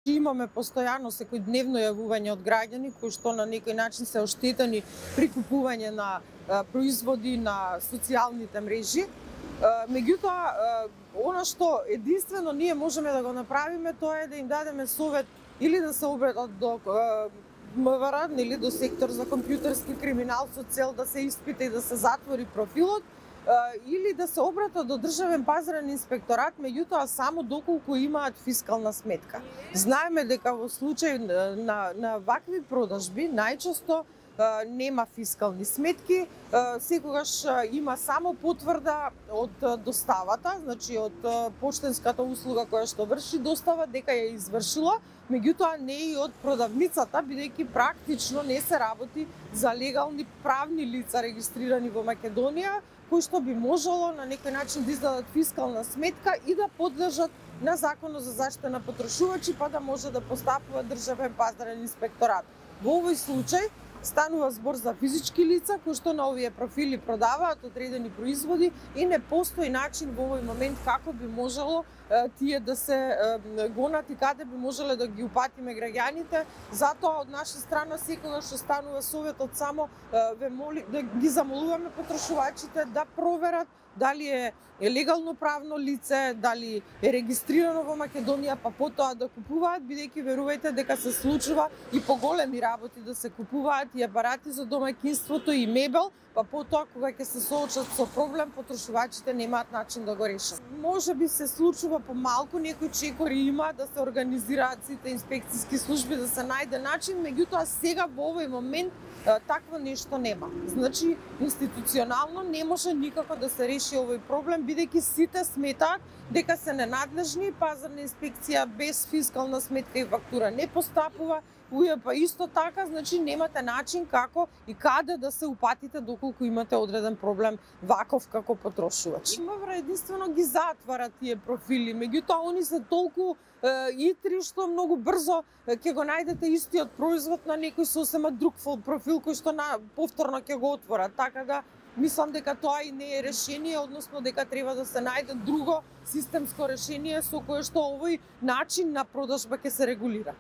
Имаме постојано секојдневно јавување од граѓани кои што на некој начин се оштетени при купување на производи на социјалните мрежи. Меѓутоа, она што единствено ние можеме да го направиме, тоа е да им дадеме совет или да се обратат до МВР, или до сектор за компјутерски криминал со цел да се испита и да се затвори профилот, или да се обратат до Државен пазарен инспекторат, меѓутоа само доколку имаат фискална сметка. Знаеме дека во случај на вакви продажби најчесто нема фискални сметки, секогаш има само потврда од доставата, значи од поштенската услуга која што врши достава дека ја извршила, меѓутоа не и од продавницата, бидејќи практично не се работи за легални правни лица регистрирани во Македонија, кои што би можело на некој начин да издадат фискална сметка и да подлежат на Законот за заштита на потрошувачи, па да може да постапува Државен пазарен инспекторат. Во овој случај станува збор за физички лица кои што на овие профили продаваат одредени производи и не постои начин во овој момент како би можело тие да се гонат и каде би можеле да ги упатиме граѓаните. Затоа од наша страна секогаш останува советот само да ги замолуваме потрошувачите да проверат дали е легално правно лице, дали е регистрирано во Македонија, па потоа да купуваат, бидејќи верувајте дека се случува и поголеми работи да се купуваат и апарати за домаќинството и мебел, па потоа кога ќе се соочат со проблем, потрошувачите немаат начин да го решат. Може би се случува помалку, некои чекори има да се организираат сите инспекциски служби, да се најде начин, меѓутоа сега во овој момент такво нешто нема. Значи, институционално не може никако да се реши овој проблем, бидејќи сите сметаат дека се ненадлежни, пазарна инспекција без фискална сметка и фактура не постапува, УЈП исто така, значи немате начин како и каде да се упатите доколку имате одреден проблем ваков како потрошувач. МВР единствено ги затвара тие профили, меѓутоа они се толку итри што многу брзо ќе го најдете истиот производ на некој сосема друг профил кој што повторно ќе го отворат. Така да мислам дека тоа и не е решение, односно дека треба да се најде друго системско решение со кое што овој начин на продажба ќе се регулира.